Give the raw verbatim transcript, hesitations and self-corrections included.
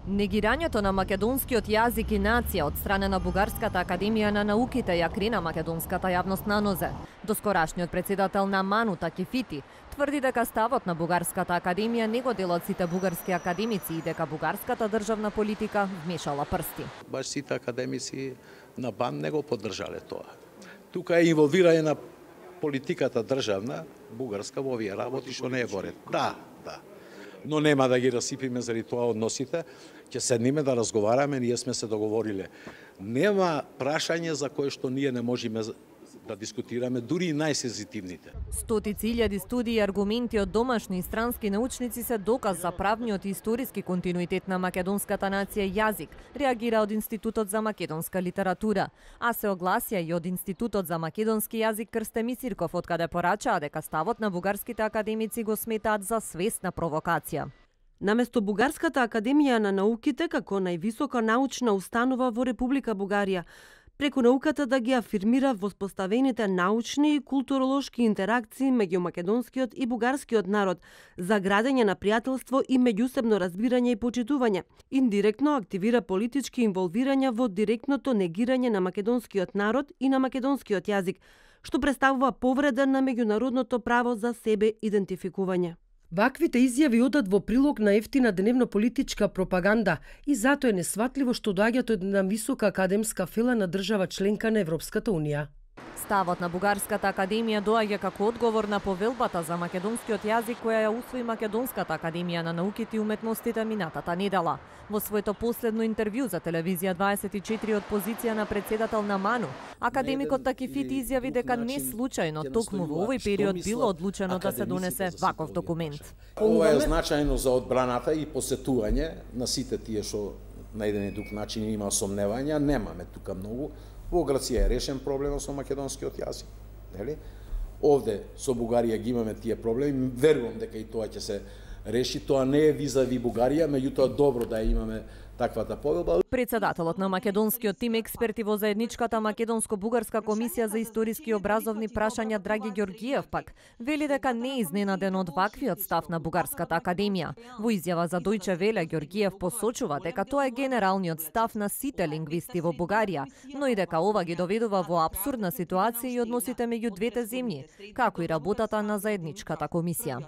Негирањето на македонскиот јазик и нација од страна на Бугарската академија на науките ја крина македонската јавност на нозе. Доскорашниот председател на МАНУ Такифити тврди дека ставот на Бугарската академија не го делат сите бугарски академици и дека бугарската државна политика вмешала прсти. Баш сите академици на БАН не го поддржале тоа. Тука е инволвирање на политиката државна, бугарска во овие работи што не е во ред. Да, да. Но нема да ги расипиме заради тоа односите, ќе седниме да разговараме, ние сме се договориле. Нема прашање за кое што ние не можеме да дискутираме, дури и најсензитивните. Стотици илјади студии и аргументи од домашни и странски научници се доказ за правниот и историски континуитет на македонската нација и јазик, реагира од Институтот за македонска литература, а се огласија и од Институтот за македонски јазик Крстеми Цирков, откаде порачаа дека ставот на бугарските академици го сметаат за свесна провокација. Наместо Бугарската академија на науките како највисока научна установа во Република Бугарија, преку науката да ги афирмира воспоставените научни и културолошки интеракции меѓу македонскиот и бугарскиот народ за градење на пријателство и меѓусебно разбирање и почитување. Индиректно активира политички инволвирања во директното негирање на македонскиот народ и на македонскиот јазик, што представува повреда на меѓународното право за себе идентификување. Ваквите изјави одат во прилог на ефтина дневно-политичка пропаганда и затоа е несватливо што доаѓаат од една висока академска фела на држава членка на Европската унија. Ставот на Бугарската академија доаѓа како одговор на повелбата за македонскиот јазик која ја усвои Македонската академија на науките и уметностите минатата недела. Во своето последно интервју за телевизија дваесет и четири од позиција на председател на МАНУ, академикот Такифити изјави дека не случајно токму во овој период било одлучено да се донесе ваков документ. Ова е значајно за одбраната и посетување на сите тие што на еден или друг начин има сомневања, немаме тука многу. Во Грција е решен проблемот со македонскиот јазик, нели? Овде со Бугарија ги имаме тие проблеми, верувам дека и тоа ќе се реши, тоа не е визави Бугарија, меѓутоа добро да имаме таквата повелба. Председателот на македонскиот тим експерти во заедничката македонско-бугарска комисија за историски и образовни прашања Драги Ѓоргиев пак вели дека не е изненаден од ваквиот став на Бугарската академија. Во изјава за Дојче Веле Ѓоргиев посочува дека тоа е генералниот став на сите лингвисти во Бугарија, но и дека ова ги доведува во апсурдна ситуација и односите меѓу двете земји, како и работата на заедничката комисија.